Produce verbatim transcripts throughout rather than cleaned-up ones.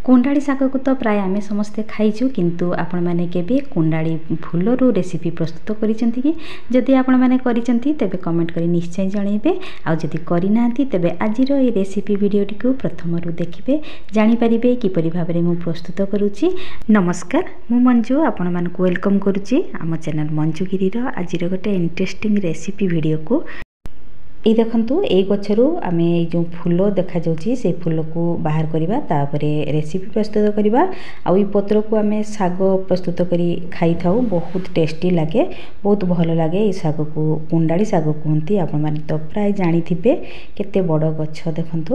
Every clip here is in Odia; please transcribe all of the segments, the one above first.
କୁଣ୍ଡାଳି ଶାଗକୁ ତ ପ୍ରାୟ ଆମେ ସମସ୍ତେ ଖାଇଛୁ, କିନ୍ତୁ ଆପଣମାନେ କେବେ କୁଣ୍ଡାଳି ଫୁଲରୁ ରେସିପି ପ୍ରସ୍ତୁତ କରିଛନ୍ତି କି? ଯଦି ଆପଣମାନେ କରିଛନ୍ତି, ତେବେ କମେଣ୍ଟ କରି ନିଶ୍ଚୟ ଜଣାଇବେ। ଆଉ ଯଦି କରିନାହାନ୍ତି, ତେବେ ଆଜିର ଏଇ ରେସିପି ଭିଡ଼ିଓଟିକୁ ପ୍ରଥମରୁ ଦେଖିବେ, ଜାଣିପାରିବେ କିପରି ଭାବରେ ମୁଁ ପ୍ରସ୍ତୁତ କରୁଛି। ନମସ୍କାର, ମୁଁ ମଞ୍ଜୁ, ଆପଣମାନଙ୍କୁ welcome କରୁଛି ଆମ ଚ୍ୟାନେଲ୍ ମଞ୍ଜୁଗିରିର ଆଜିର ଗୋଟେ ଇଣ୍ଟରେଷ୍ଟିଂ ରେସିପି ଭିଡ଼ିଓକୁ। ଏଇ ଦେଖନ୍ତୁ, ଏଇ ଗଛରୁ ଆମେ ଏଇ ଯେଉଁ ଫୁଲ ଦେଖାଯାଉଛି, ସେଇ ଫୁଲକୁ ବାହାର କରିବା, ତାପରେ ରେସିପି ପ୍ରସ୍ତୁତ କରିବା। ଆଉ ଏଇ ପତ୍ରକୁ ଆମେ ଶାଗ ପ୍ରସ୍ତୁତ କରି ଖାଇଥାଉ, ବହୁତ ଟେଷ୍ଟି ଲାଗେ, ବହୁତ ଭଲ ଲାଗେ। ଏଇ ଶାଗକୁ କୁଣ୍ଡାଳି ଶାଗ କୁହନ୍ତି, ଆପଣମାନେ ତ ପ୍ରାୟ ଜାଣିଥିବେ। କେତେ ବଡ଼ ଗଛ ଦେଖନ୍ତୁ।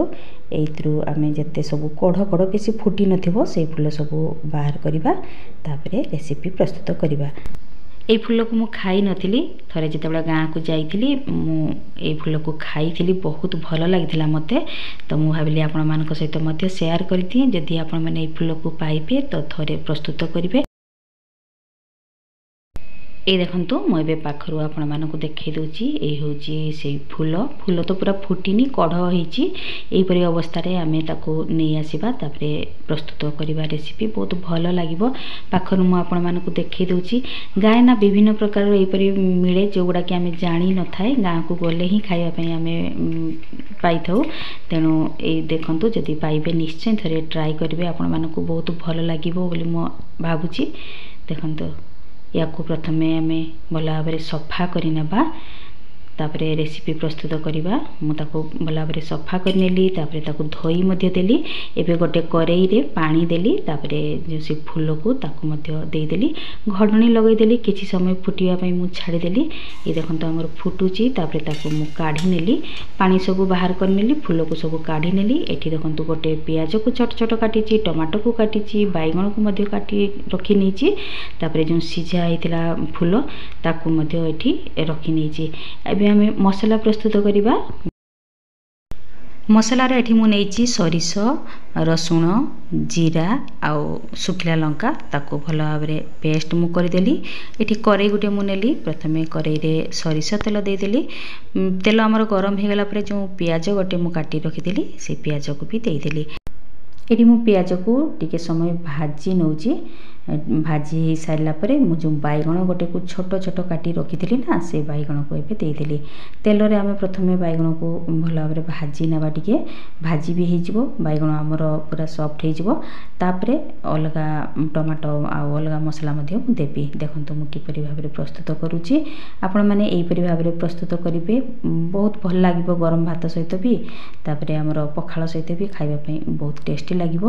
ଏଇଥିରୁ ଆମେ ଯେତେ ସବୁ କଢ଼ କଢ଼, ବେଶୀ ଫୁଟି ନଥିବ, ସେଇ ଫୁଲ ସବୁ ବାହାର କରିବା, ତାପରେ ରେସିପି ପ୍ରସ୍ତୁତ କରିବା। ଏଇ ଫୁଲକୁ ମୁଁ ଖାଇନଥିଲି। ଥରେ ଯେତେବେଳେ ଗାଁକୁ ଯାଇଥିଲି, ମୁଁ ଏଇ ଫୁଲକୁ ଖାଇଥିଲି, ବହୁତ ଭଲ ଲାଗିଥିଲା ମୋତେ। ତ ମୁଁ ଭାବିଲି ଆପଣମାନଙ୍କ ସହିତ ମଧ୍ୟ ସେୟାର କରିଦିଏ। ଯଦି ଆପଣମାନେ ଏଇ ଫୁଲକୁ ପାଇବେ, ତ ଥରେ ପ୍ରସ୍ତୁତ କରିବେ। ଏଇ ଦେଖନ୍ତୁ, ମୁଁ ଏବେ ପାଖରୁ ଆପଣମାନଙ୍କୁ ଦେଖାଇ ଦେଉଛି। ଏଇ ହେଉଛି ସେଇ ଫୁଲ। ଫୁଲ ତ ପୁରା ଫୁଟିନି, କଢ଼ ହେଇଛି। ଏହିପରି ଅବସ୍ଥାରେ ଆମେ ତାକୁ ନେଇ ଆସିବା, ତାପରେ ପ୍ରସ୍ତୁତ କରିବା ରେସିପି, ବହୁତ ଭଲ ଲାଗିବ। ପାଖରୁ ମୁଁ ଆପଣମାନଙ୍କୁ ଦେଖାଇ ଦେଉଛି। ଗାଁରେ ନା ବିଭିନ୍ନ ପ୍ରକାରର ଏହିପରି ମିଳେ, ଯେଉଁଗୁଡ଼ାକି ଆମେ ଜାଣିନଥାଏ, ଗାଁକୁ ଗଲେ ହିଁ ଖାଇବା ପାଇଁ ଆମେ ପାଇଥାଉ। ତେଣୁ ଏଇ ଦେଖନ୍ତୁ, ଯଦି ପାଇବେ ନିଶ୍ଚୟ ଥରେ ଟ୍ରାଏ କରିବେ, ଆପଣମାନଙ୍କୁ ବହୁତ ଭଲ ଲାଗିବ ବୋଲି ମୁଁ ଭାବୁଛି। ଦେଖନ୍ତୁ, ୟାକୁ ପ୍ରଥମେ ଆମେ ଭଲ ଭାବରେ ସଫା କରିନେବା, ତାପରେ ରେସିପି ପ୍ରସ୍ତୁତ କରିବା। ମୁଁ ତାକୁ ଭଲ ଭାବରେ ସଫା କରିନେଲି, ତାପରେ ତାକୁ ଧୋଇ ମଧ୍ୟ ଦେଲି। ଏବେ ଗୋଟେ କରେଇରେ ପାଣି ଦେଲି, ତାପରେ ଯେଉଁ ସେ ଫୁଲକୁ ତାକୁ ମଧ୍ୟ ଦେଇଦେଲି, ଘଡ଼ଣୀ ଲଗାଇଦେଲି, କିଛି ସମୟ ଫୁଟିବା ପାଇଁ ମୁଁ ଛାଡ଼ିଦେଲି। ଏ ଦେଖନ୍ତୁ, ଆମର ଫୁଟୁଛି। ତାପରେ ତାକୁ ମୁଁ କାଢ଼ି ନେଲି, ପାଣି ସବୁ ବାହାର କରିନେଲି, ଫୁଲକୁ ସବୁ କାଢ଼ି ନେଲି। ଏଠି ଦେଖନ୍ତୁ, ଗୋଟେ ପିଆଜକୁ ଛୋଟ ଛୋଟ କାଟିଛି, ଟମାଟୋକୁ କାଟିଛି, ବାଇଗଣକୁ ମଧ୍ୟ କାଟି ରଖି ନେଇଛି। ତାପରେ ଯେଉଁ ସିଝା ହେଇଥିଲା ଫୁଲ, ତାକୁ ମଧ୍ୟ ଏଠି ରଖିନେଇଛି। ଏବେ ଆମେ ମସଲା ପ୍ରସ୍ତୁତ କରିବା। ମସଲାର ଏଠି ମୁଁ ନେଇଛି ସୋରିଷ, ରସୁଣ, ଜିରା ଆଉ ଶୁଖିଲା ଲଙ୍କା। ତାକୁ ଭଲ ଭାବରେ ପେଷ୍ଟ ମୁଁ କରିଦେଲି। ଏଠି କରେଇ ଗୋଟେ ମୁଁ ନେଲି। ପ୍ରଥମେ କରେଇରେ ସୋରିଷ ତେଲ ଦେଇଦେଲି। ତେଲ ଆମର ଗରମ ହେଇଗଲା ପରେ ଯେଉଁ ପିଆଜ ଗୋଟେ ମୁଁ କାଟି ରଖିଥିଲି, ସେ ପିଆଜକୁ ବି ଦେଇଦେଲି। ଏଠି ମୁଁ ପିଆଜକୁ ଟିକେ ସମୟ ଭାଜି ନେଉଛି। ଭାଜି ହେଇସାରିଲା ପରେ ମୁଁ ଯେଉଁ ବାଇଗଣ ଗୋଟେକୁ ଛୋଟ ଛୋଟ କାଟି ରଖିଥିଲି ନା, ସେ ବାଇଗଣକୁ ଏବେ ଦେଇଦେଲି ତେଲରେ। ଆମେ ପ୍ରଥମେ ବାଇଗଣକୁ ଭଲ ଭାବରେ ଭାଜି ନେବା। ଟିକେ ଭାଜି ବି ହେଇଯିବ, ବାଇଗଣ ଆମର ପୁରା ସଫ୍ଟ ହେଇଯିବ। ତାପରେ ଅଲଗା ଟମାଟୋ ଆଉ ଅଲଗା ମସଲା ମଧ୍ୟ ମୁଁ ଦେବି। ଦେଖନ୍ତୁ, ମୁଁ କିପରି ଭାବରେ ପ୍ରସ୍ତୁତ କରୁଛି। ଆପଣମାନେ ଏହିପରି ଭାବରେ ପ୍ରସ୍ତୁତ କରିବେ, ବହୁତ ଭଲ ଲାଗିବ। ଗରମ ଭାତ ସହିତ ବି, ତାପରେ ଆମର ପଖାଳ ସହିତ ବି ଖାଇବା ପାଇଁ ବହୁତ ଟେଷ୍ଟି ଲାଗିବ।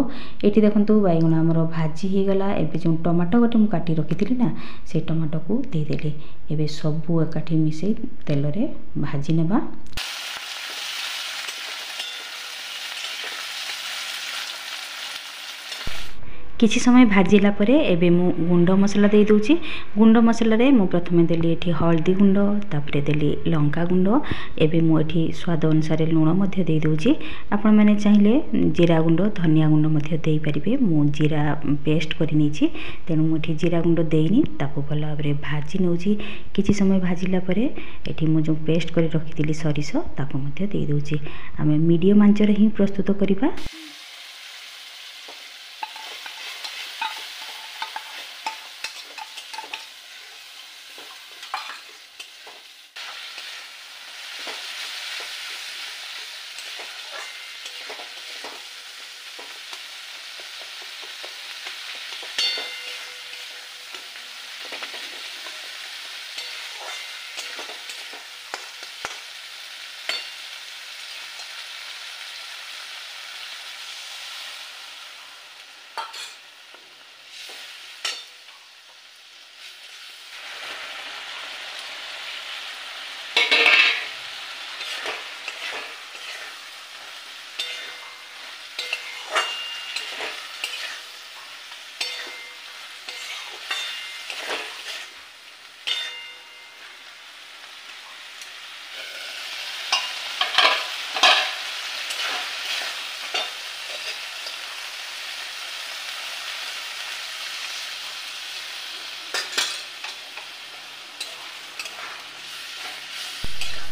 ଏଇଠି ଦେଖନ୍ତୁ, ବାଇଗଣ ଆମର ଭାଜି ହେଇଗଲା। ଏବେ ଯେଉଁ ଟମାଟୋ ଗୋଟେ ମୁଁ କାଟି ରଖିଥିଲି ନା, ସେଇ ଟମାଟୋକୁ ଦେଇଦେଲି। ଏବେ ସବୁ ଏକାଠି ମିଶାଇ ତେଲରେ ଭାଜି ନେବା। କିଛି ସମୟ ଭାଜିଲା ପରେ ଏବେ ମୁଁ ଗୁଣ୍ଡ ମସଲା ଦେଇଦେଉଛି। ଗୁଣ୍ଡ ମସଲାରେ ମୁଁ ପ୍ରଥମେ ଦେଲି ଏଠି ହଳଦୀ ଗୁଣ୍ଡ, ତାପରେ ଦେଲି ଲଙ୍କା ଗୁଣ୍ଡ। ଏବେ ମୁଁ ଏଠି ସ୍ୱାଦ ଅନୁସାରେ ଲୁଣ ମଧ୍ୟ ଦେଇଦେଉଛି। ଆପଣମାନେ ଚାହିଁଲେ ଜିରା ଗୁଣ୍ଡ, ଧନିଆ ଗୁଣ୍ଡ ମଧ୍ୟ ଦେଇପାରିବେ। ମୁଁ ଜିରା ପେଷ୍ଟ କରି ନେଇଛି, ତେଣୁ ମୁଁ ଏଠି ଜିରା ଗୁଣ୍ଡ ଦେଇନି। ତାକୁ ଭଲ ଭାବରେ ଭାଜି ନେଉଛି। କିଛି ସମୟ ଭାଜିଲା ପରେ ଏଠି ମୁଁ ଯେଉଁ ପେଷ୍ଟ କରି ରଖିଥିଲି ସୋରିଷ, ତାକୁ ମଧ୍ୟ ଦେଇଦେଉଛି। ଆମେ ମିଡ଼ିୟମ୍ ଆଞ୍ଚରେ ହିଁ ପ୍ରସ୍ତୁତ କରିବା।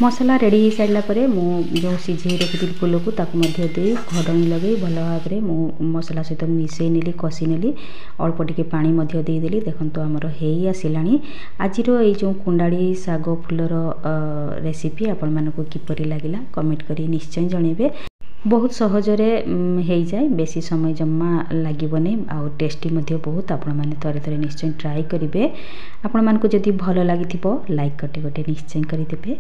ମସଲା ରେଡ଼ି ହେଇସାରିଲା ପରେ ମୁଁ ଯେଉଁ ସିଝେଇ ରଖିଥିଲି ଫୁଲକୁ, ତାକୁ ମଧ୍ୟ ଦେଇ ଘୋଡ଼ଣୀ ଲଗାଇ ଭଲ ଭାବରେ ମୁଁ ମସଲା ସହିତ ମିଶାଇ ନେଲି, କଷି ନେଲି। ଅଳ୍ପ ଟିକେ ପାଣି ମଧ୍ୟ ଦେଇଦେଲି। ଦେଖନ୍ତୁ, ଆମର ହେଇ ଆସିଲାଣି। ଆଜିର ଏଇ ଯେଉଁ କୁଣ୍ଡାଳି ଶାଗ ଫୁଲର ରେସିପି ଆପଣମାନଙ୍କୁ କିପରି ଲାଗିଲା, କମେଣ୍ଟ କରି ନିଶ୍ଚୟ ଜଣାଇବେ। ବହୁତ ସହଜରେ ହେଇଯାଏ, ବେଶୀ ସମୟ ଜମା ଲାଗିବନି, ଆଉ ଟେଷ୍ଟି ମଧ୍ୟ ବହୁତ। ଆପଣମାନେ ଥରେ ଥରେ ନିଶ୍ଚୟ ଟ୍ରାଏ କରିବେ। ଆପଣମାନଙ୍କୁ ଯଦି ଭଲ ଲାଗିଥିବ, ଲାଇକ୍ ଗୋଟେ ଗୋଟେ ନିଶ୍ଚୟ କରିଦେବେ,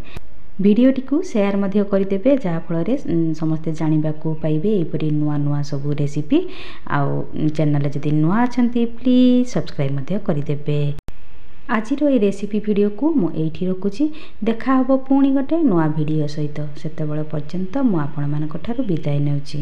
ଭିଡ଼ିଓଟିକୁ ସେୟାର ମଧ୍ୟ କରିଦେବେ, ଯାହାଫଳରେ ସମସ୍ତେ ଜାଣିବାକୁ ପାଇବେ ଏହିପରି ନୂଆ ନୂଆ ସବୁ ରେସିପି। ଆଉ ଚ୍ୟାନେଲରେ ଯଦି ନୂଆ ଅଛନ୍ତି, ପ୍ଲିଜ୍ ସବସ୍କ୍ରାଇବ୍ ମଧ୍ୟ କରିଦେବେ। ଆଜିର ଏଇ ରେସିପି ଭିଡ଼ିଓକୁ ମୁଁ ଏଇଠି ରଖୁଛି। ଦେଖା ହେବ ପୁଣି ଗୋଟେ ନୂଆ ଭିଡ଼ିଓ ସହିତ। ସେତେବେଳେ ପର୍ଯ୍ୟନ୍ତ ମୁଁ ଆପଣମାନଙ୍କ ଠାରୁ ବିଦାୟ ନେଉଛି।